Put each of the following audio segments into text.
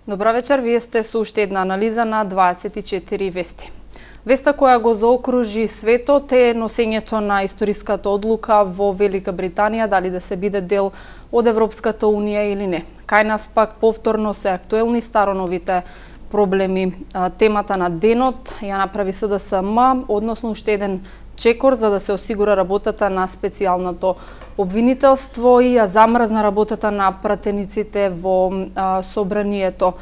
Добра вечер, вие сте со уште една анализа на 24 вести. Веста која го заокружи светот е носењето на историската одлука во Велика Британија дали да се биде дел од Европската Унија или не. Кај нас пак повторно се актуелни староновите проблеми. Темата на денот ја направи СДСМ, односно уште еден чекор за да се осигура работата на специјалното обвинителство и ја замрзна работата на пратениците во собранието.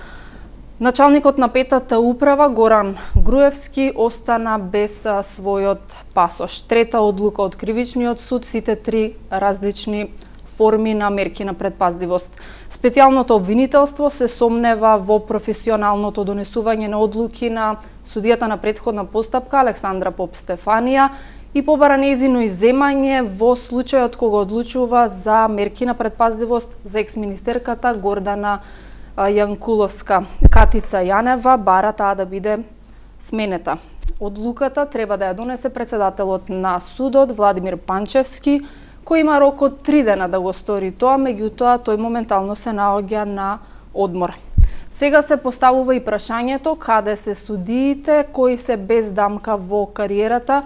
Началникот на петата управа Горан Груевски остана без својот пасош. Трета одлука од кривичниот суд, сите три различни форми на мерки на предпазливост. Специјалното обвинителство се сомнева во професионалното донесување на одлуки на судијата на претходна постапка Александра Поп-Стефанија и побара нејзино изземање во случајот кога одлучува за мерки на предпазливост за екс-министерката Гордана Јанкуловска. Катица Јанева бара таа да биде сменета. Одлуката треба да ја донесе председателот на судот Владимир Панчевски, кој има рок од 3 дена да го стори тоа, меѓутоа тој моментално се наоѓа на одмор. Сега се поставува и прашањето каде се судиите кои се без дамка во кариерата,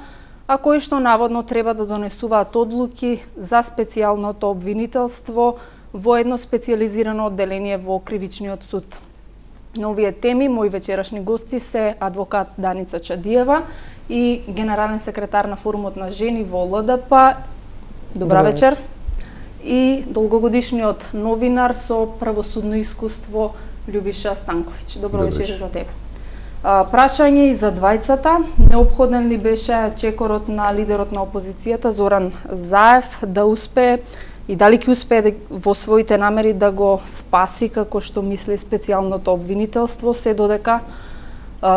а кои што наводно треба да донесуваат одлуки за специјалното обвинителство во едно специјализирано одделение во Кривичниот суд. На овие теми мои вечерашни гости се адвокат Даница Чадиева и генерален секретар на Форумот на жени во ЛДП. Добра вечер. И долгогодишниот новинар со правосудно искуство Љубиша Станковиќ. Добро вечер за тебе. Прашање и за двајцата. Неопходен ли беше чекорот на лидерот на опозицијата Зоран Заев да успее и дали ќе успее во своите намери да го спаси како што мисли специјалното обвинителство, се додека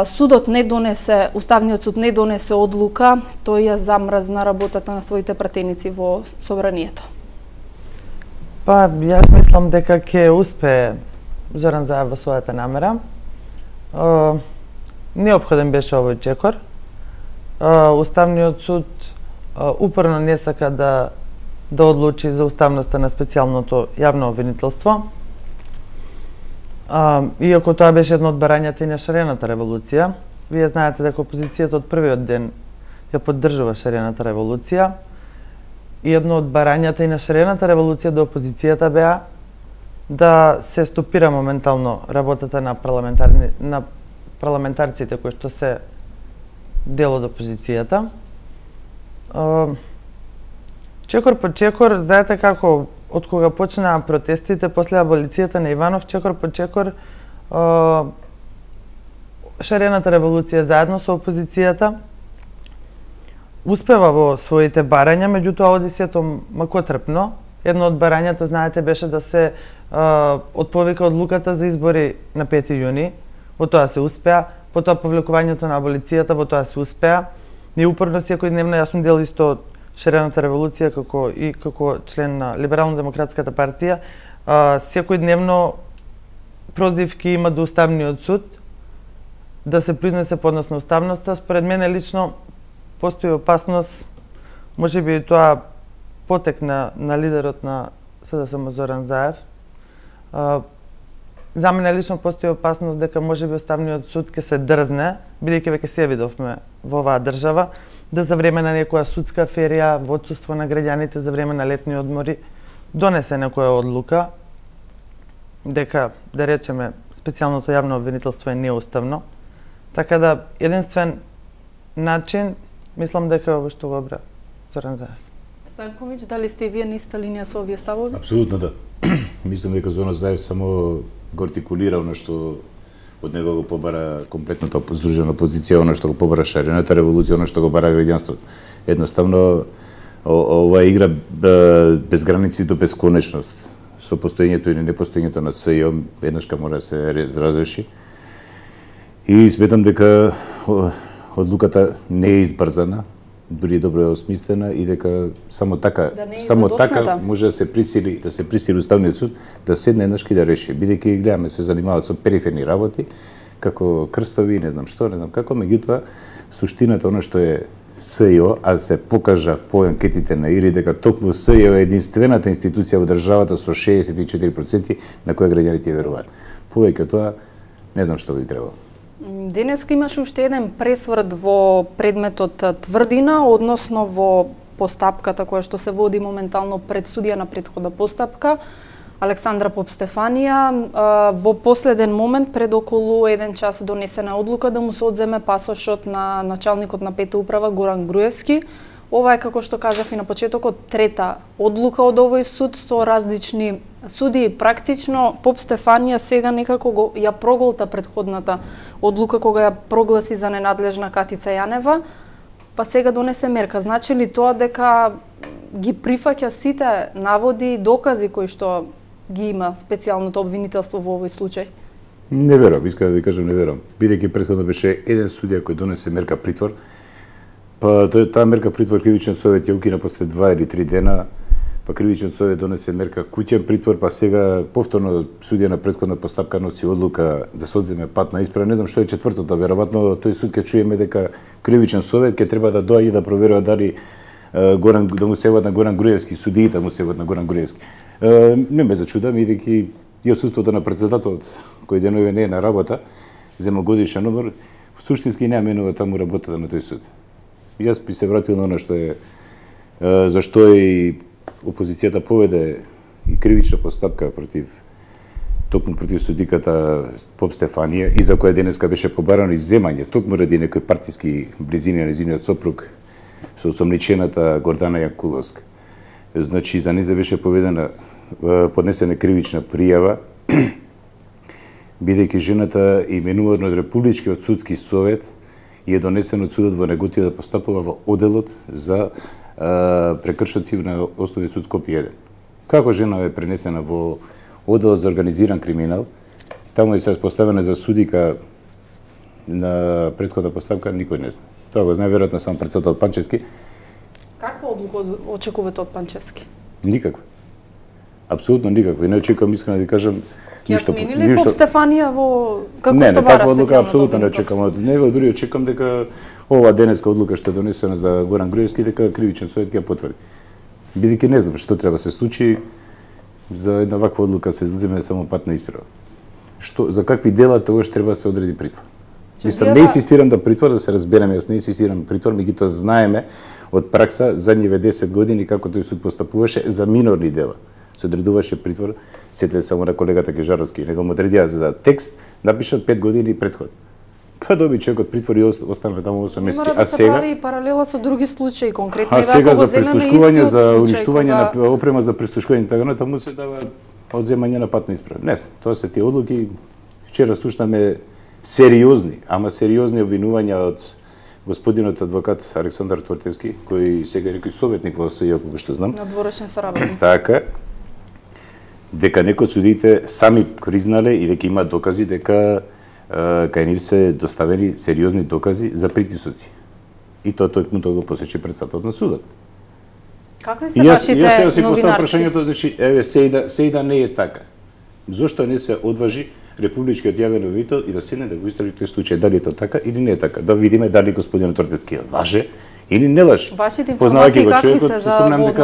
судот не донесе, Уставниот суд не донесе одлука, тој ја замрзна работата на своите пратеници во собранието? Па, јас мислам дека ќе успее Зоран Заев во својата намера. Неопходен беше овој чекор. Уставниот суд упорно не сака да одлучи за уставноста на специјалното јавно обвинителство. Иако тоа беше едно од барањата и на шарената револуција, вие знаете дека опозицијата од првиот ден ја поддржува шарената револуција и едно од барањата и на шарената револуција до опозицијата беа да се стопира моментално работата на парламентарците кои што се дел од опозицијата. Чекор по чекор, знаете како, од кога почнаа протестите после аболицијата на Иванов, чекор по чекор, шарената револуција заедно со опозицијата успева во своите барања, меѓутоа оди сето макотрпно. Едно од барањата, знаете, беше да се отповика одлуката за избори на 5 јуни, во тоа се успеа, потоа повлекувањето на аболицијата, во тоа се успеа. И упорно секојдневно, јас сум дел исто од шарената револуција како член на Либерално-демократската партија, секојдневно прозивки има до Уставниот суд да се признесе поднос на уставноста. Според мене лично постои опасност, можеби тоа потек на лидерот на СДСМ Зоран Заев. За мене лично постои опасност дека можеби Уставниот суд ќе се дрзне, бидејќи веќе се видовме во оваа држава, да за време на некоја судска ферија, во отсуство на граѓаните за време на летни одмори, донесе некоја одлука дека, да речеме, специјалното јавно обвинителство е неуставно. Така да, единствен начин, мислам дека е ово што го обра Зоран Заев. Станковиќ, дали сте и вие на иста линија со овие ставови? Апсолутно да. Мислам дека Зоран Заев само го артикулира оно што од него го побара комплетната здружена опозиција, оно што го побара шарената револуција, оно што го бара граѓанството. Едноставно, ова игра без граници до бесконечност. Со постоењето или непостоењето на СЈО, еднашка мора да се разреши. И сметам дека одлуката не е избрзана, дури добро осмислена и дека само така може да се присили Уставниот суд да седне еднашки да реши. Бидејќи гледаме се занимаваат со периферни работи, како крстови, не знам што, не знам како, меѓутоа суштината оно што е СЈО, а се покажа по анкетите на ИРИ дека токму СЈО е единствената институција во државата со 64% на која граѓаните веруваат. Повеќе тоа Не знам што би требало. Денеска имаше уште еден пресврт во предметот тврдина, односно во постапката која што се води моментално пред судија на претходна постапка, Александра Попстефанија, во последен момент, пред околу 1 час донесена одлука да му се одземе пасошот на началникот на Пета управа Горан Груевски. Ова е, како што кажав и на почетокот, трета одлука од овој суд со различни суди. Практично Попстефанија сега некако ја проголта претходната одлука кога ја прогласи за ненадлежна Катица Јанева, па сега донесе мерка. Значи ли тоа дека ги прифаќа сите наводи и докази кои што ги има специјалното обвинителство во овој случај? Не верувам, искам да ви кажам, не верувам. Бидејќи претходно беше еден судија кој донесе мерка притвор, па таа мерка притвор кривичниот совет ја укина после 2 или 3 дена, па кривичниот совет донесе мерка куќен притвор, па сега повторно судија на претходна постапка носи одлука да се одземе патна исправа. Не знам што е четвртото, веројатно тој суд ќе чуеме дека кривичен совет ќе треба да доаѓа да проверува дали да му се јават на Горан Груевски, судиите да му се јават на Горан Груевски. Не ме зачудам, бидејќи и отсуството на председателот, кој денови не е на работа, зема годишен одмор, суштински не менува таму работата на тој суд. Јас би се вратил на она што е зашто и опозицијата поведе и кривична постапка токму против судиката Попстефанија, и за која денеска беше побарано изземање, токму ради некои партиски близини на незиниот сопруг со осомничената Гордана Јанкуловска. Значи, за неја беше поднесена кривична пријава, бидејќи жената именувана од Републичкиот судски совет и е донесен од судот во Неготија да постапува во оделот за прекршоци на Основни суд Скопје 1. Како жена е пренесена во оделот за организиран криминал, таму е се поставена за судика на претходна постапка, никој не знае. Тоа го знае веројатно сам председател Панчевски. Каква одлука очекувате од Панчевски? Никаква. Апсолутно никаква. И не очекувам, искрено да ви кажам, ништо. Ќе смени ли Попстефанија во како не, што бара специјално? Не, одлука апсолутно не очекувам од него, дури очекувам дека ова денеска одлука што е донесена за Горан Груевски, дека кривичен совет ќе ја потврди. Бидејќи не знам што треба се случи за една ваква одлука се земе само патна исправа. За какви дела тоа што треба да се одреди притвор. Мислам, не инсистирам да притвор, да се разбереме, јас не инсистирам притвор, меѓутоа знаеме од пракса задниве 10 години како тој суд постапуваше за минорни дела. Се одредуваше притвор, сетете само на колегата Кежаровски, него му одредија за текст, напишат 5 години предход. Па доби човекот притвор и остана таму 8 месеци. А сега се прави паралела со други случаи, конкретно а сега за прислушкување, за уништување на опрема за прислушкување така на таму се дава одземање на патна исправа. Не, тоа се тие одлуки. Вчера слушнаме сериозни, ама сериозни обвинувања од господинот адвокат Александар Тортевски, кој сега е некој советник во СЈО, како што знам. Надворешен соработник. Така, дека некои од судиите сами признале и веќе имаат докази дека кај нив се доставени сериозни докази за притисоци. И тоа токму тоа го посече председателот на судот. Какви се вашите новинарски? Јас си поставам прашањето, значи, еве се и да не е така. Зошто не се одважи Републичкиот јавен обвинител и да седне да го истражи тој случај, дали е тоа така или не е така? Да видиме дали господинот Тортевски лаже или не лаже. Вашите информации какви се за однос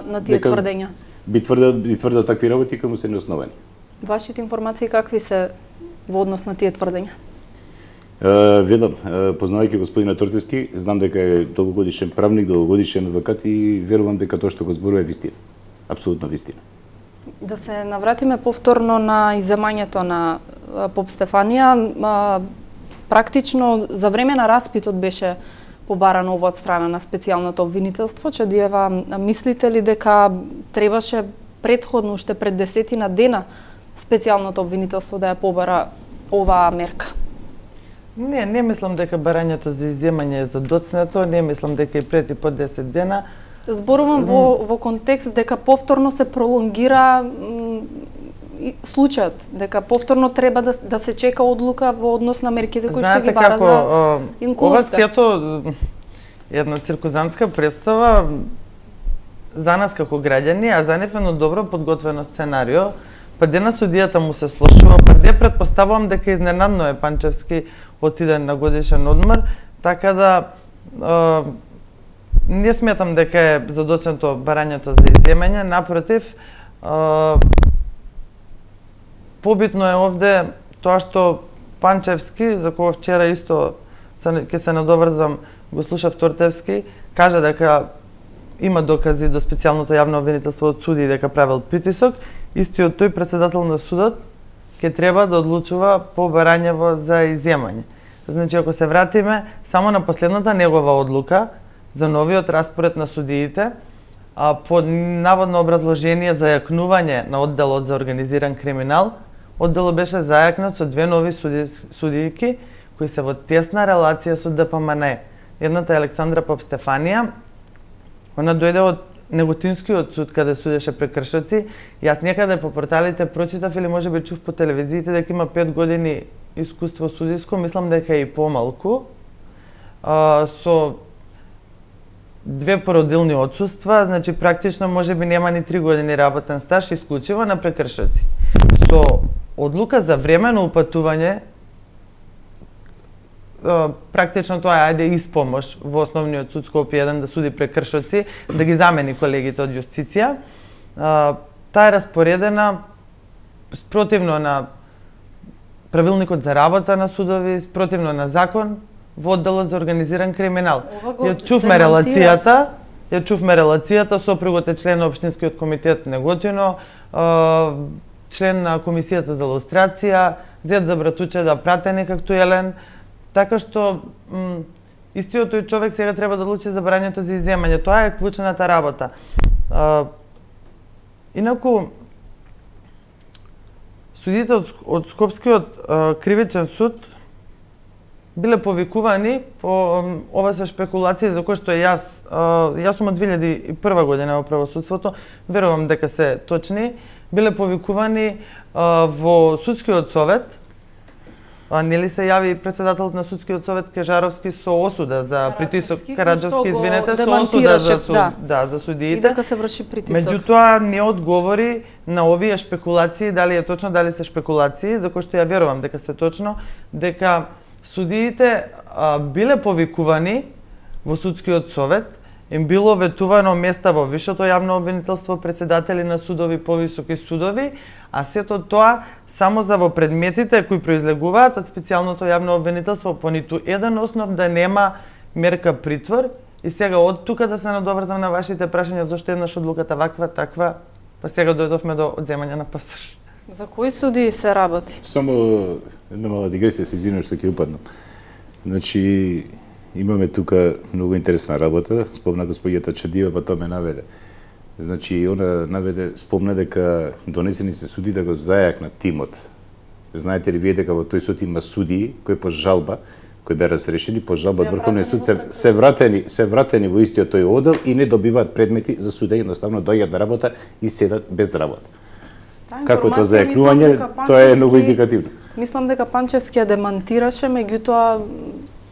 на тие тврдења? Би тврдел такви работи кои му се неосновани. Вашите информации какви се во однос на тие тврдења? Велам, познавајќи господинот Тортевски, знам дека е долгогодишен правник, долгогодишен адвокат и верувам дека тоа што го зборува е вистина. Апсолутно вистина. Да се навратиме повторно на изземањето на Попстефанија. Практично за време на распитот беше побарано ова од страна на специјалното обвинителство. Чадиева, мислите ли дека требаше претходно, уште пред 10 дена, специјалното обвинителство да ја побара оваа мерка? Не мислам дека барањето за изземање е задоцнато, не мислам дека и пред и по 10 дена. Зборувам во контекст дека повторно се пролонгира случајот, дека повторно треба да се чека одлука во однос на мерките кои што ги бара за Јанкуловска. Ова сето една циркузантска представа за нас како граѓани, а за нив едно добро подготвено сценарио. Па дена судијата му се слушува, па де предпоставувам дека изненадно е Панчевски отиде на годишен одмор, така да не сметам дека е задоцнато барањето за изземање, напротив, побитно е овде тоа што Панчевски, за кого вчера исто ќе се надоврзам, го слушав Тортевски, кажа дека има докази до специјалното јавно обвинителство од суди дека правил притисок, истиот тој председател на судот ќе треба да одлучува по барањево за изземање. Значи, ако се вратиме само на последната негова одлука за новиот распоред на судиите, под наводно образложение за јакнување на одделот за организиран криминал, одделот беше зајакнат со две нови судијки кои се во тесна релација со ДПМН. Едната е Александра Попстефанија, она дојде од Неготинскиот суд каде судеше прекршоци. Јас некаде по порталите прочитав или можеби чув по телевизиите дека има 5 години искуство судиско, мислам дека е и помалку, со 2 породилни отсуства, значи практично можеби нема ни 3 години работен стаж, исклучиво на прекршоци. Со одлука за времено упатување, практично тоа е ајде испомош во основниот суд Скопје 1 да суди прекршоци, да ги замени колегите од јустиција. Таа е распоредена спротивно на правилникот за работа на судови, спротивно на закон во одделот за организиран криминал. Ја чувме релацијата, сопругот е член на Општинскиот комитет Неготино, член на Комисијата за лустрација, зет за братуче пратеник актуелен, така што истиот тој човек сега треба да одлучи за барањето за изземање. Тоа е клучната работа. Инаку, судите од Скопскиот кривичен суд биле повикувани по ова се шпекулации за кои што јас сум од 2001 година во правосудството, верувам дека се точни, биле повикувани во судскиот совет. Нели се јави председателот на судскиот совет Кежаровски со осуда за притисок, Караджовски, извинете, со осуда за судиите. И дека се врши притисок. Меѓутоа не одговори на овие шпекулации, дали е точно, дали се шпекулации, за кои што ја верувам дека се точно, дека судиите биле повикувани во судскиот совет, им било ветувано места во висшето јавно обвинителство, председатели на судови, повисоки судови, а сето тоа само за во предметите кои произлегуваат од специјалното јавно обвинителство, по ниту еден основ да нема мерка притвор. И сега од тука да се надоврзам на вашите прашања зошто еднаш одлуката ваква, таква, па сега дојдовме до одземање на пасош. За кои суди се работи? Само една мала дигресија, се извинувам што ќе упаднам. Значи, имаме тука многу интересна работа, спомна господјата Чадиева, па тоа ме наведе. Значи, она наведе, спомна дека донесени се суди да го зајакнат тимот. Знаете ли вие дека во тој суд има судии кои по жалба, кои беа разрешени по жалба од Врховниот суд се вратени во истиот тој оддел и не добиваат предмети за судење, едноставно доаѓаат на работа и седат без работа. Како тоа зајакнување, тоа е многу индикативно. Мислам дека Панчевски ја демантираше, меѓутоа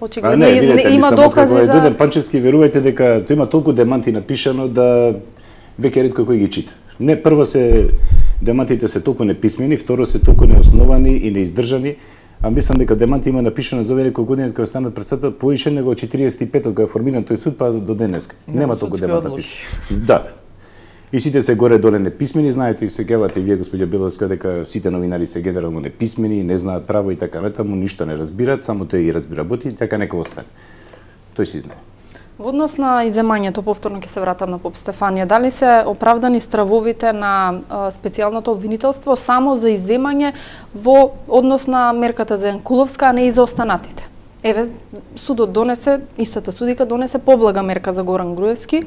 очигледно има докази за... Доден Панчевски, верувајте дека тој има толку деманти напишано да веќе ретко кој ги чита. Не, прво демантите се толку неписмени, второ се толку неосновани и неиздржани, а мислам дека деманти има напишано за овие некои години кога станат председател поише него 45 кога е формиран тој суд па до денеска. Нема толку демант напишано. Да. И сите се горе-доле неписмени, знаете и се гевате и вие, господја Беловска, дека сите новинари се генерално неписмени, не знаат право и така натаму, ништо не разбираат, само тој ги разбира боти и така нека остане. Тој си знае. Во однос на изземањето, повторно ќе се вратам на Попстефанија, дали се оправдани стравовите на специјалното обвинителство само за изземање во однос на мерката за Јанкуловска, а не и за останатите? Еве, судот донесе, истата судика донесе поблага мерка за Горан Груевски,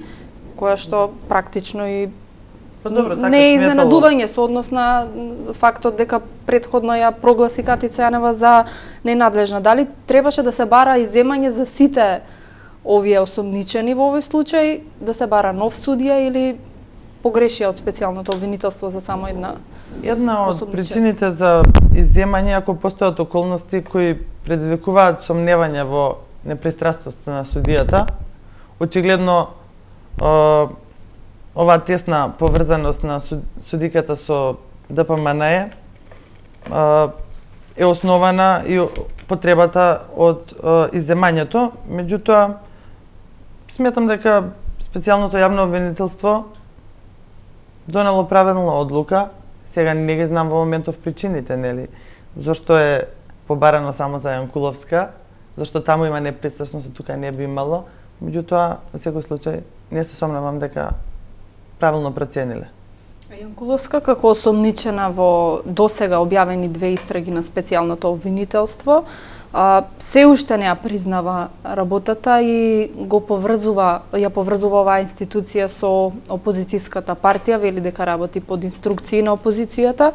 која што практично и не е изненадување со однос на фактот дека претходно ја прогласи Катица Јанева за ненадлежна. Дали требаше да се бара изземање за сите овие осомничени во овој случај, да се бара нов судија или погрешија од специјалното обвинителство за само една од причините за изземање, ако постојат околности кои предизвикуваат сомневање во непристрасноста на судијата, очигледно оваа тесна поврзаност на судиката со ДПМН е основана и потребата од изземањето, меѓутоа сметам дека специјалното јавно обвинителство донело правилна одлука. Сега не ги знам во моментов причините, нели, зошто е побарано само за Јанкуловска, зашто таму има непристрасност, а тука не би имало. Меѓутоа, во секој случај, не се сомневам дека правилно процениле. Јанкуловска, како осомничена во досега објавени 2 истраги на специјалното обвинителство, се уште не ја признава работата и ја поврзува оваа институција со опозицијската партија, вели дека работи под инструкции на опозицијата.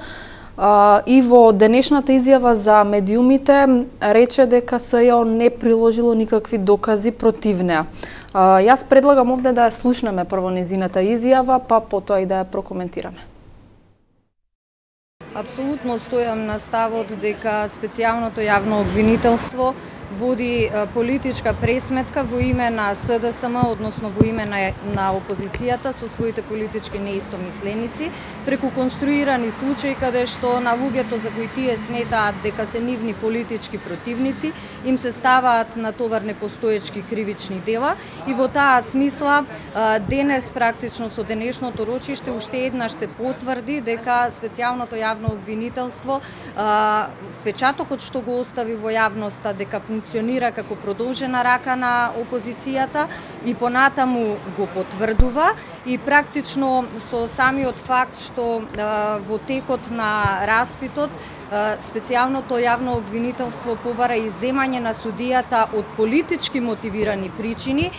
И во денешната изјава за медиумите рече дека СЈО не приложило никакви докази против неа. Јас предлагам овде да ја слушнеме прво незината изјава, па потоа и да ја прокоментираме. Апсолутно стојам на ставот дека специјалното јавно обвинителство води политичка пресметка во име на СДСМ, односно во име на опозицијата со своите политички неистомисленици, преку конструирани случаи каде што на луѓето за кои тие сметаат дека се нивни политички противници, им се ставаат на товар непостоечки кривични дела и во таа смисла денес практично со денешното рочиште уште еднаш се потврди дека специјалното јавно обвинителство впечатокот што го остави во јавноста дека функционира како продолжена рака на опозицијата и понатаму го потврдува и практично со самиот факт што во текот на распитот специјалното јавно обвинителство побара изземање на судијата од политички мотивирани причини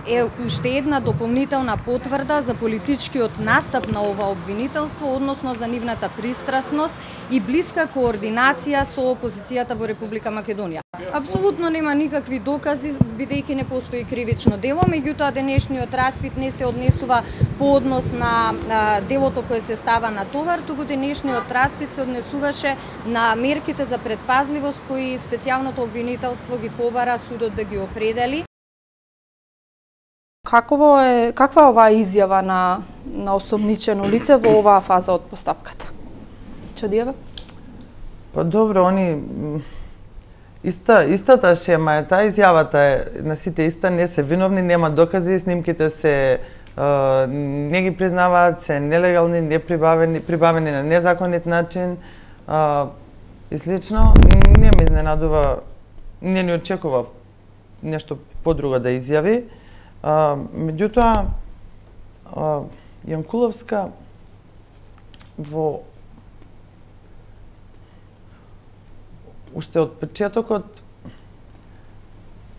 е уште една дополнителна потврда за политичкиот настап на ова обвинителство, односно за нивната пристрасност и блиска координација со опозицијата во Република Македонија. Апсолутно нема никакви докази, бидејќи не постои кривично дело, меѓутоа денешниот распит не се однесува по однос на делото кое се става на товар, туку денешниот распит се однесуваше на мерките за предпазливост кои специјалното обвинителство ги побара судот да ги определи. Каква е оваа изјава на осомничено лице во оваа фаза од постапката? Чадиева? Па добро, они истата шема е таа, изјавата е на сите иста, не се виновни, нема докази, снимките се не ги признаваат, се нелегални, прибавени на незаконит начин и слично. Не ме изненадува, не ни очекува нешто подруго да изјави. Меѓутоа, Јанкуловска уште од почетокот,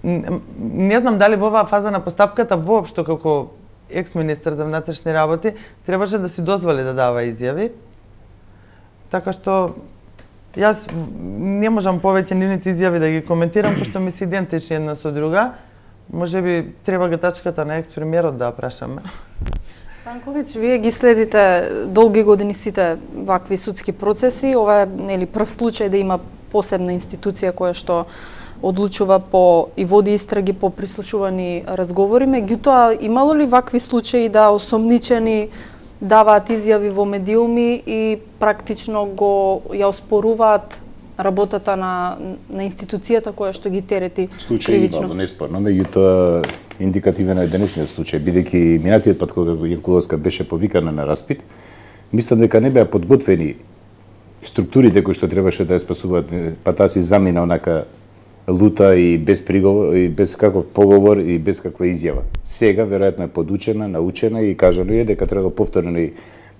не знам дали во оваа фаза на постапката воопшто како екс-министер за внатрешни работи требаше да си дозволи да дава изјави. Така што јас не можам повеќе нивните изјави да ги коментирам, пошто ми се идентични една со друга. Може би треба гатачката на екс-премиерот да прашаме. Станковиќ, вие ги следите долги години сите вакви судски процеси. Ова е прв случај да има посебна институција која што одлучува и води истраги по прислушувани разговори. Меѓутоа, имало ли вакви случаи да осомничени даваат изјави во медиуми и практично ја оспоруваат работата на институцијата која што ги терети кривично? Случај неспорно, меѓутоа индикативен е денешниот случај, бидејќи минатиот пат кога Јанкуловска беше повикана на распит, мислам дека не беа подготвени структурите кои што требаше да ја спасуваат, па таа си замина онака лута и без приговор, и без каков поговор и без каква изјава. Сега веројатно е подучена, научена и кажано е дека треба повторени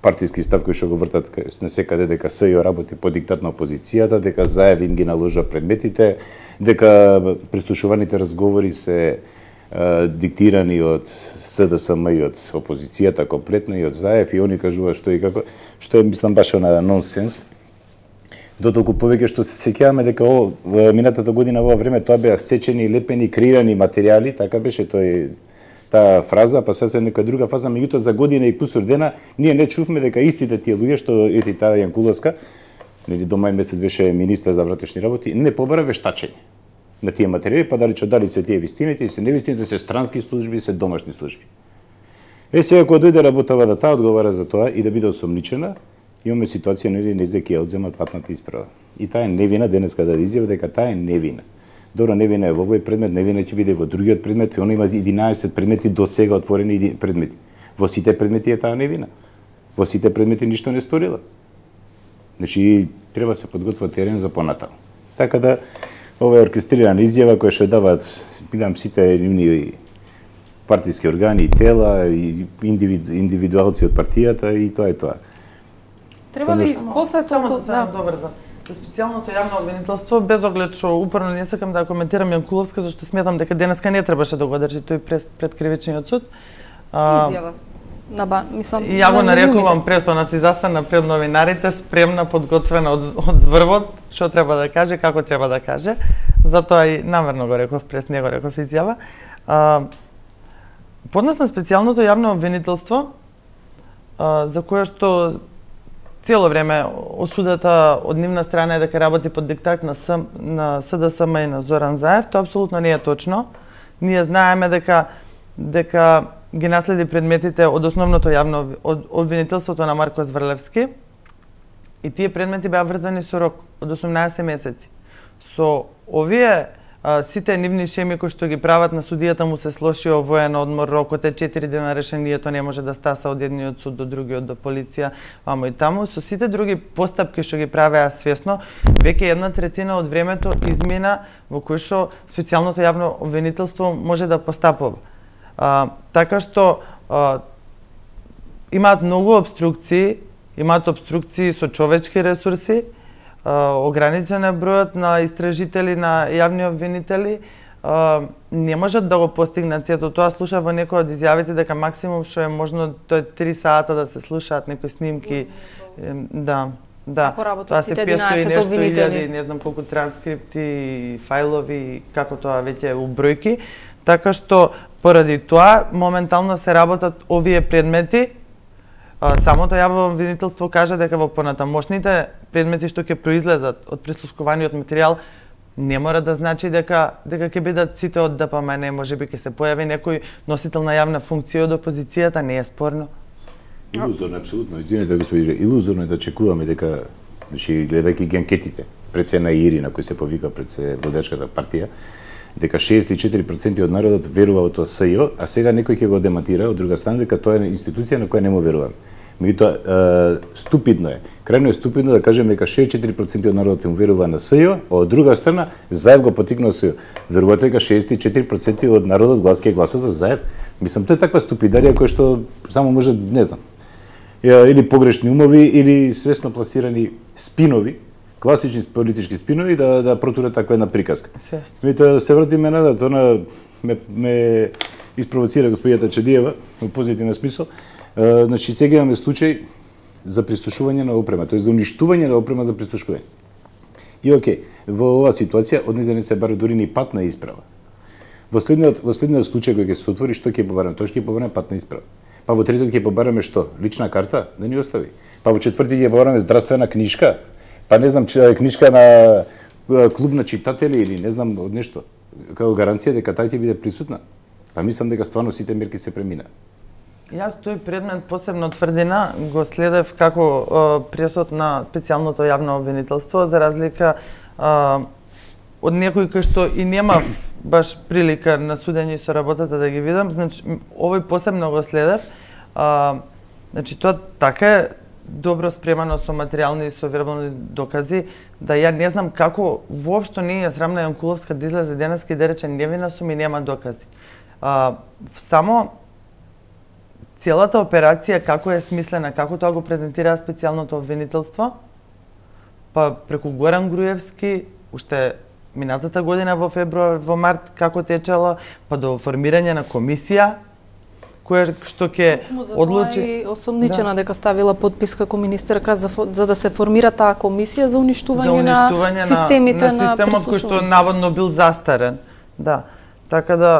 партиски став кои што го вртат на секаде дека СЈО работи по диктат на опозицијата, дека Заев им ги наложа предметите, дека прислушуваните разговори се диктирани од СДСМ и од опозицијата комплетно и од Заев и они кажуваат што и како, што е мислам баш на нонсенс. Дотолку повеќе што се сеќаваме дека минатата година во време тоа беа сечени, лепени, креирани материјали, така беше таа фраза, па сега нека друга фаза, меѓутоа за година и кусур дена ние не чувме дека истите тие луѓе што таа Јанкуловска, нели до мај месец беше министер за внатрешни работи, не побара вештачење на тие материјали, па дали се тие вистините и се невистините, се странски служби, се домашни служби. Сега кога дојде работава да таа одговара за тоа и да биде осомничена, имаме ситуација нели не ќе ја одземат патната исправа. И таа е невина, денеска да изјави дека таа е невина. Добро, невина е во овој предмет, невина ќе биде во другиот предмет, она има 11 предмети до сега отворени предмети. Во сите предмети е таа невина. Во сите предмети ништо не сторила. Значи, треба се подготвува терен за понатаму. Така да ова е оркестрирана изјава која што даваат сите партиски органи и тела и индивидуалци од партијата и тоа е тоа. Треба ли после само тоа добар за специјалното јавно обвинителство, без оглед што упорно не сакам да коментирам Јанкуловска, зашто сметам дека денеска не требаше да го држи тој пред кривичниот суд. Изјава. Мислам, и ја го нарекувам прес, она си застана пред новинарите, спремна, подготвена од врвот, што треба да каже, како треба да каже. Затоа и намерно го реков прес, не го реков изјава. Поднос на специјалното јавно обвинителство, за кое што цело време осудата од нивна страна е дека работи под диктат на СДСМ и на Зоран Заев, тоа апсолутно не е точно. Ние знаеме дека ги наследи предметите од основното јавно обвинителството на Марко Зврлевски и тие предмети беа врзани со рок од 18 месеци. Со овие сите нивни шеми кои што ги прават на судијата му се слошио воен одмор, рокот е 4 дена, решението не може да стаса од едниот суд до другиот, до полиција, вамо и таму. Со сите други постапки што ги правеа свесно, веќе 1/3 од времето измина во кој што специјалното јавно обвинителство може да постапува. Така што имаат многу обструкции со човечки ресурси, ограничен е бројот на истражители, на јавни обвинители, не можат да го постигнат сето тоа. Слушав во некои од изјавите дека максимум што е можно тоа е 3 сата да се слушаат некои снимки. Да. Како работат сите 11 обвинители? Не знам колку транскрипти, фајлови, како тоа веќе е у бројки. Така што поради тоа моментално се работат овие предмети. Самото јавно обвинителство кажа дека во понатамошните предмети што ќе произлезат од прислушкуваниот материјал не мора да значи дека ќе бидат сите од ДПМН, можеби ќе се појави некој носител на јавна функција од опозицијата, не е спорно. Илузорно, апсолутно. Извинете, господи, илузорно е да очекуваме дека, значи, гледајќи ги анкетите, пред се на Ирина, кој се повика пред се владечката партија, дека 64% од народот верува во тоа СЈО, а сега некој ќе го демантира од друга страна дека тоа е институција на која не му верувам. Меѓутоа, ступидно е. Крајно е ступидно да кажеме дека 64% од народот му верува на СЈО, а од друга страна Заев го потикнал СЈО. Верувате дека 64% од народот ќе гласа за Заев? Мислам, тоа е таква ступидарија која што само може, не знам, или погрешни умови, или свесно пласирани спинови, класични политички спинови да протурат таква една приказка. Меѓутоа, се вратиме на тоа, ме испровоцира господијата Чедиева во позитивен смисол. Значи, сега имаме случај за пристушување на опрема, тоест за уништување на опрема за пристушување. И окей, во оваа ситуација од нејзе не се бара дури ни патна исправа. Во следниот случај кој ќе се отвори, што ќе побараме? Тоа ќе побараме патна исправа. Па во третиот ќе побараме што? Лична карта? Да ни остави. Па во четврти ќе побараме здравствена книжка? Па не знам, книжка на клуб на читатели или не знам од нешто. Како гаранција дека тај ќе биде присутна. Па мислам дека стварно сите мерки се премина. Јас тој предмет посебно тврдина го следев како пресуд на специјалното јавно обвинителство, за разлика од некој кој што и немав баш прилика на судење и со работата да ги видам. Значи, овој посебно го следев. Значи, тоа така е добро спремано со материјални и со вербални докази, да ја не знам како воопшто не е срамна Јанкуловска да излезе денеска и да рече невина сум и нема докази. Само целата операција како е смислена, како тоа го презентира специјалното обвинителство, па преку Горан Груевски, уште минатата година во февруар, во март, како течела, па до формирање на комисија, која што ќе одлучи... И осомничена дека ставила подпис како министерка за да се формира таа комисија за уништување на системите на системот кој што наводно бил застарен. Да, така да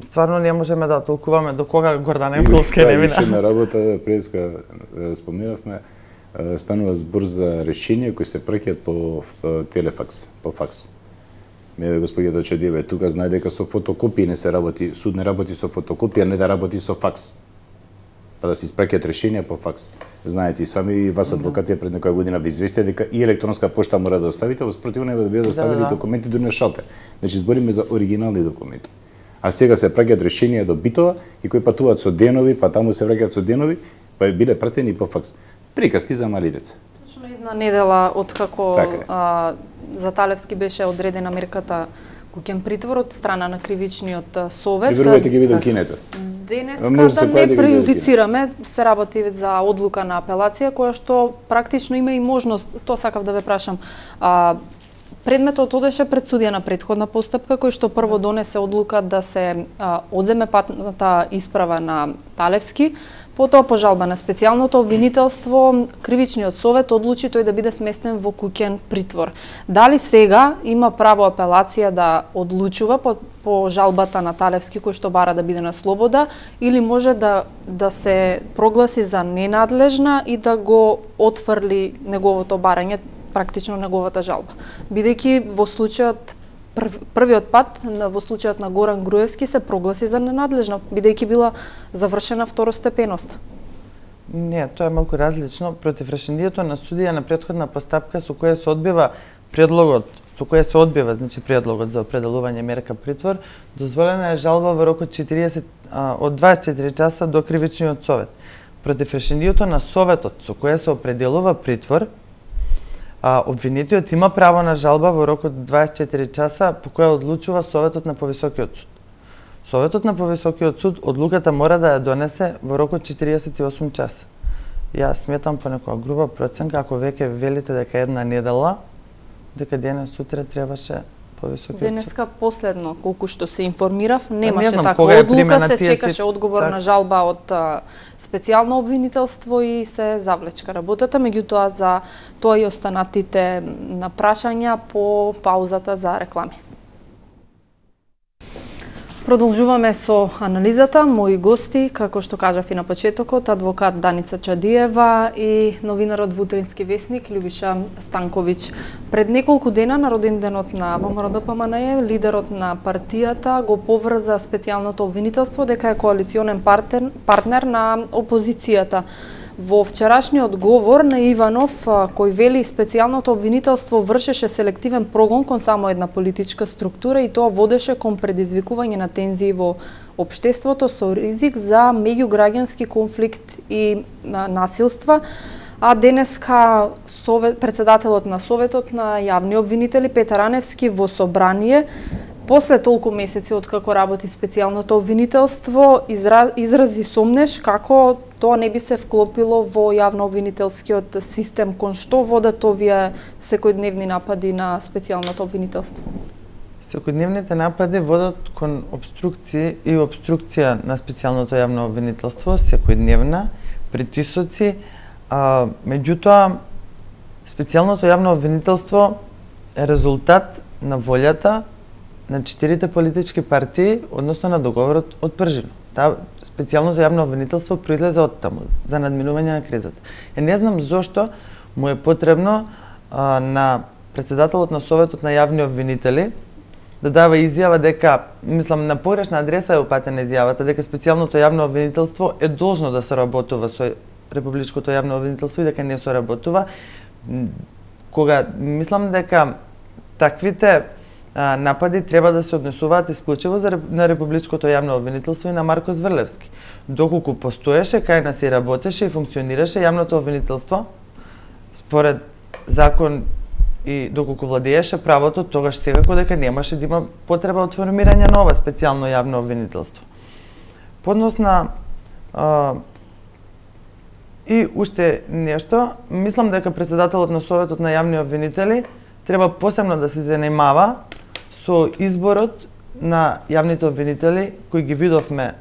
стварно не можеме да толкуваме до кога Гордана Јанкуловска е невина. Уште една работа, преска спомнавме, станува збор за решенија кои се праќаат по телефакс, по факс. Господијата Чедиева тука знае дека со фотокопии не се работи, суд не работи со фотокопија, не да работи со факс. Па да се испраќаат решенија по факс. Знаете и сами и вас адвокати пред некоја година ви известија дека и електронска пошта мора да оставите, во спротивно да бидат оставени документи дури на шалтер. Значи збориме за оригинални документи. А сега се праќаат решенија до битова и кои патуваат со денови, па таму се враќаат со денови, па биле пратени по факс. Приказки за мали деца. Точно една недела од како за Талевски беше одредена мерката куќен притвор од страна на кривичниот совет. Прибрувате ги видам кинете. Денеска да не прејудицираме, се работи за одлука на апелација која што практично има и можност, тоа сакав да ве прашам. Предметот одеше пред судија на претходна постапка кој што прво донесе одлука да се одземе патната исправа на Талевски. Потоа по жалба на специјалното обвинителство, кривичниот совет одлучи тој да биде сместен во куќен притвор. Дали сега има право апелација да одлучува по жалбата на Талевски кој што бара да биде на слобода, или може да се прогласи за ненадлежна и да го отфрли неговото барање, практично неговата жалба. Бидејќи во случајот првиот пат во случајот на Горан Груевски се прогласи за ненадлежна, бидејќи била завршена второстепеност. Не, тоа е малку различно. Против решението на судија на претходна постапка со која се одбива значи предлогот за определување мерка притвор, дозволена е жалба во рок од 24 часа до кривичниот совет. Против решението на советот со која се определува притвор, обвинетиот има право на жалба во рок од 24 часа по која одлучува советот на повисокиот суд. Советот на повисокиот суд одлуката мора да ја донесе во рок од 48 часа. Јас сметам по некоја груба проценка, ако веќе велите дека една недела, дека денес сутре требаше повисокиот суд. Денеска последно, колку што се информирав, немаше таква одлука, се чекаше одговор на жалба од специјално обвинителство и се завлечка работата, меѓутоа за тоа и останатите на прашања по паузата за реклами. Продолжуваме со анализата. Мои гости, како што кажав и на почетокот, адвокат Даница Чадиева и новинарот во Утрински весник Љубиша Станковиќ. Пред неколку дена на роденденот на ВМРО-ДПМНЕ, лидерот на партијата го поврза специјалното обвинителство дека е коалиционен партнер на опозицијата. Во вчерашниот говор на Иванов, кој вели специјалното обвинителство вршеше селективен прогон кон само една политичка структура и тоа водеше кон предизвикување на тензии во општеството со ризик за меѓуграѓански конфликт и насилства, а денеска председателот на Советот на јавни обвинители Петар Аневски во собрание после толку месеци откако работи специјалното обвинителство изрази сомнеш како тоа не би се вклопило во јавно-обвинителскиот систем, кон што водат овие секојдневни напади на специјалното обвинителство? Секојдневните напади водат кон обструкции и обструкција на специјалното јавно обвинителство, секојдневна, притисоци, меѓутоа специјалното јавно обвинителство е резултат на волјата на 4 политички партии, односно на договорот од Пржино. Специјалното јавно обвинителство произлезе од таму, за надминување на кризата. Не знам зошто му е потребно на председателот на Советот на јавни обвинители да дава изјава дека, мислам, на погрешна адреса е упатена изјавата, дека специјалното јавно обвинителство е должно да соработува со Републичкото јавно обвинителство и дека не соработува, кога мислам дека таквите напади треба да се однесуваат исклучиво на Републичкото јавно обвинителство и на Марко Зврлевски. Доколку постоеше, кај нас и работеше и функционираше јавното обвинителство, според закон и доколку владееше правото, тогаш секако дека немаше да има потреба од формирање на ова специјално јавно обвинителство. Поднос на и уште нешто, мислам дека председателот на Советот на јавни обвинители треба посебно да се занимава со изборот на јавните обвинители кои ги видовме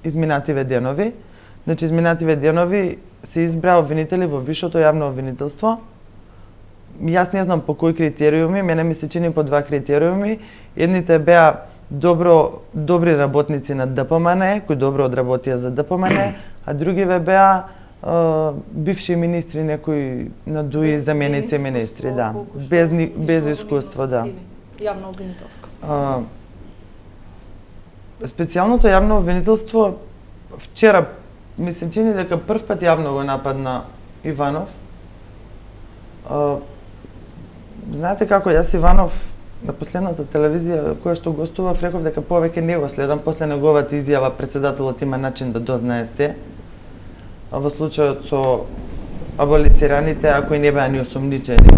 изминативе денови. Значи, изминативе денови се избра обвинители во Висшето јавно обвинителство. Јас не знам по кои критериуми, мене ми се чини по 2 критериуми. Едните беа добри работници на ДПМН, кои добро одработија за ДПМН, а другиве беа бивши министри, некои надуи заменици министри, да, без искуство, да. Јавно обвинителство. Специјалното јавно обвинителство вчера ми се чини дека прв пат јавно го нападна Иванов. Знаете како, јас Иванов на последната телевизија која што гостував реков дека повеќе не го следам, после неговата изјава председателот има начин да дознае се. Во случајот со аболицираните, ако и не беа ни осомничени,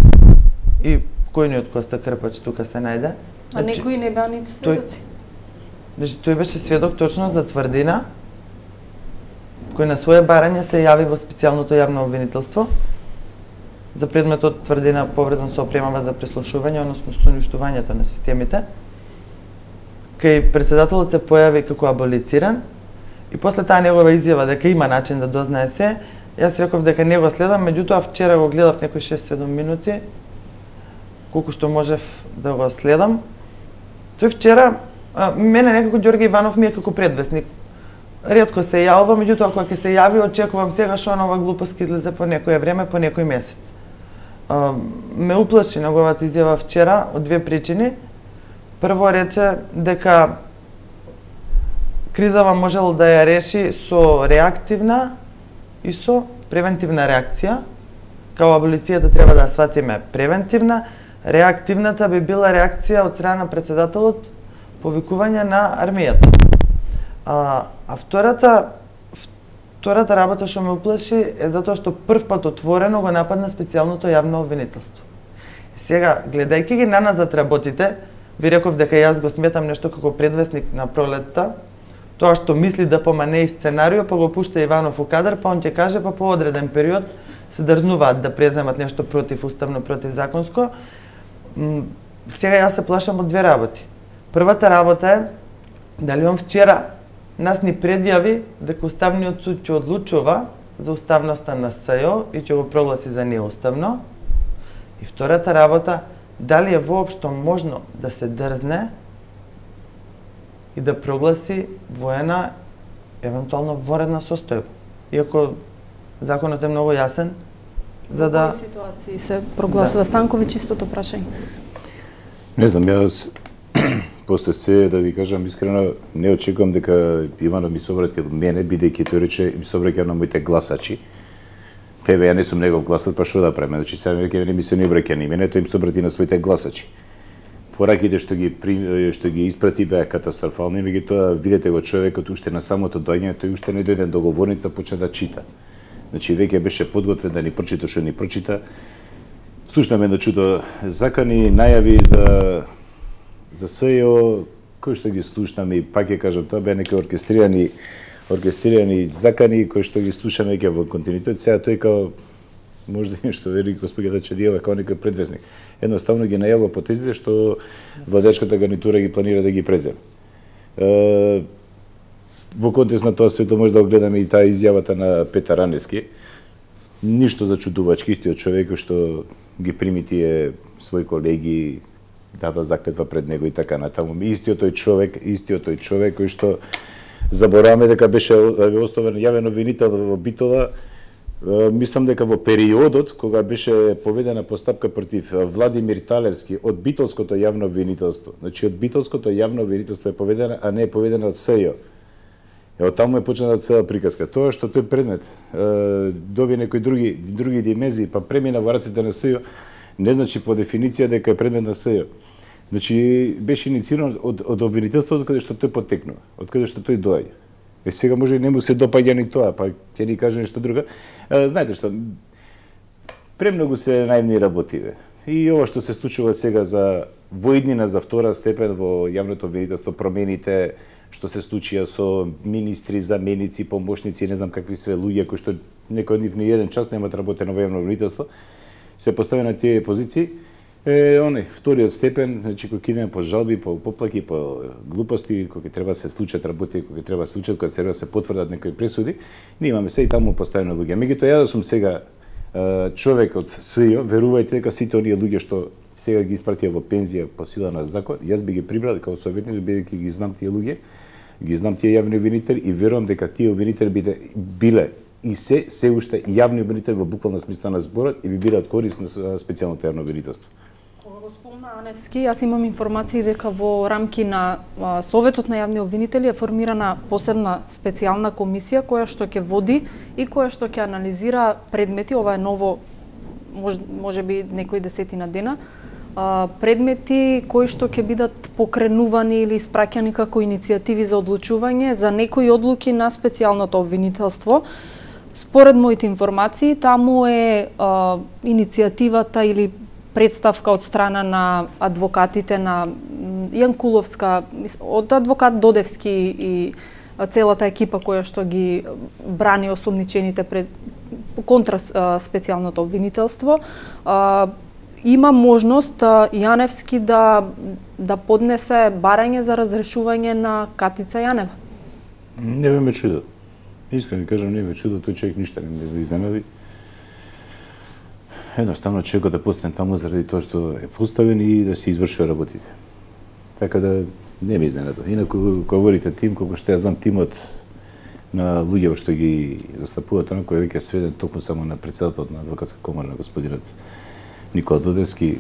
и покојниот Коста Крпач тука се најде. А некои не беа ниту сведоци? Тој беше сведок точно за тврдина, кој на своје барање се јави во специјалното јавно обвинителство за предметот тврдина поврзан со опремава за преслушување, односно со уништувањето на системите. Кај председателот се појави како аболициран и после таа негова изјава дека има начин да дознае се, јас реков дека не го следам, меѓутоа вчера го гледав некои 6-7 минути, колку што можев да го следам. Тој вчера, мене некако Ѓорги Иванов ми е како предвесник. Ретко се јавува, меѓутоа кога ќе се јави, очекувам сега што нова глупост ќе излезе по некое време, по некој месец. Ме уплаши неговата изјава вчера од две причини. Прво рече дека кризава можел да ја реши со реактивна и со превентивна реакција. Као аболицијата треба да ја сватиме превентивна, реактивната би била реакција од страна на председателот повикување на армијата. А втората работа што ме уплаши е затоа што прв пат отворено го нападна специјалното јавно обвинителство. Сега, гледајќи ги наназад работите, ви реков дека јас го сметам нешто како предвесник на пролетта, тоа што мисли да помане и сценарио, па го пушта Иванов у кадар, па он ќе каже, па по одреден период се дрзнуваат да преземат нешто противуставно, противзаконско. Сега јас се плашам од две работи. Првата работа е дали он вчера нас ни предјави дека Уставниот суд ќе одлучува за уставноста на СЈО и ќе го прогласи за неуставно. И втората работа, дали е воопшто можно да се дрзне и да прогласи воена, евентуално воредна состојба. Иако законот е многу јасен, за да... Во кои ситуации се прогласува? Станковиќ, истото прашање. Не знам, јас после се, да ви кажам искрено, не очекувам дека Иванов ми собрати од мене, бидејќи тој рече ми собраќа на моите гласачи. Певе, ја не сум негов гласач, па што да правиме? Значи, сега веќе не ми се не обраќа ни мене, тој им собрати на своите гласачи. Пораките што ги испрати беа катастрофални, меѓутоа видете го човекот уште на самото доаѓање, тој уште не дојде до говорница, почна да чита. Значи веќе беше подготвен да ни прочита што ни прочита. Слушнаме едно чудо закани, најави за СЈО, кои што ги слушнаме и пак ќе кажам, тоа беа некои оркестрирани закани кои што ги слушаме веќе во континуитет. Сега тој као можда нешто вели господјата Чадиева као некој предвесник. Едноставно ги најавува потезите што владачката гарнитура ги планира да ги преземе. Во контекст на тоа свето може да огледаме и таа изјавата на Петар Раневски. Ништо зачудувачки, истиот човек што ги прими тие своји колеги, дата заклетва пред него и така натаму. Истиот тој човек кој што забораваме дека беше оставен јавен обвинител во Битола. Мислам дека во периодот кога беше поведена постапка против Владимир Талевски од битолското јавно обвинителство. Значи од битолското јавно обвинителство е поведена, а не е поведена од СЈО. Од таму е почната цела приказка. Тоа што тој предмет доби некои други димензии, па премина во рацете на СЈО, не значи по дефиниција дека е предмет на СЈО. Значи беше иницииран од обвинителството од каде што тој потекнува, од каде што тој доаѓа. Сега може и не му се допаѓа ни тоа, па ќе ни каже нешто друго. Знаете што, премногу се наивни работиве. И ова што се случува сега за воиднина за втора степен во јавното обвинителство, промените што се случија со министри, заменици, помошници, не знам какви све луѓе кои што некој од нив ни еден час немаат работено во јавно обвинителство, се постави на тие позиции. Вториот степен, значи кога идеме по жалби, по поплаки, по глупости, кога треба се случат работи, кога треба се случат, кога треба се потврдат некои пресуди, ние имаме се и таму поставено луѓе. Меѓутоа ја да сум сега човек од СЈО, верувајте дека сите оние луѓе што сега ги испратија во пензија по сила на закон, јас би ги прибрал како советник, бидејќи ги знам тие луѓе, ги знам тие јавни обвинители и верувам дека тие обвинители биле и се уште јавни обвинители во буквална смисла на зборот и би биле од корист на специјалното јавно обвинителство. Аневски, јас имам информации дека во рамки на Советот на јавни обвинители е формирана посебна специјална комисија која што ќе води и која што ќе анализира предмети, ова е ново, може би некои десетина дена, предмети кои што ќе бидат покренувани или испраќани како иницијативи за одлучување за некои одлуки на специјалното обвинителство. Според моите информации, таму е иницијативата или представка од страна на адвокатите на Јанкуловска, од адвокат Додевски и целата екипа која што ги брани осомничените пред контра специјалното обвинителство, има можност Јаневски да поднесе барање за разрешување на Катица Јанева? Не ме чудо. Искрено кажам, не ме чудо, тој човек ништо не ме изненади. Едноставно човекот да постане таму заради тоа што е поставен и да се извршува работите. Така да не ме изненадува. Инаку, кога говорите тим, колку што ја знам тимот на луѓе што ги застапуваат, онако е веќе сведен токму само на председателот на адвокатска комора, на господинот Никола Додевски.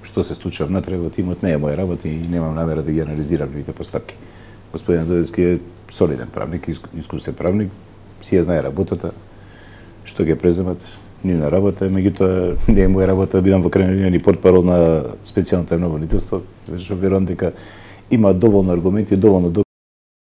Што се случува внатре во тимот не е моја работа и немам намера да ги анализирам нивните постапки. Господин Додевски е солиден правник, искусен правник, си ја знае работата, што ги преземат, нивна работа, меѓутоа не е моја работа да бидам во крајна линија ни портпарол на специјалното јавно обвинителство, што верувам дека има доволно аргументи, доволно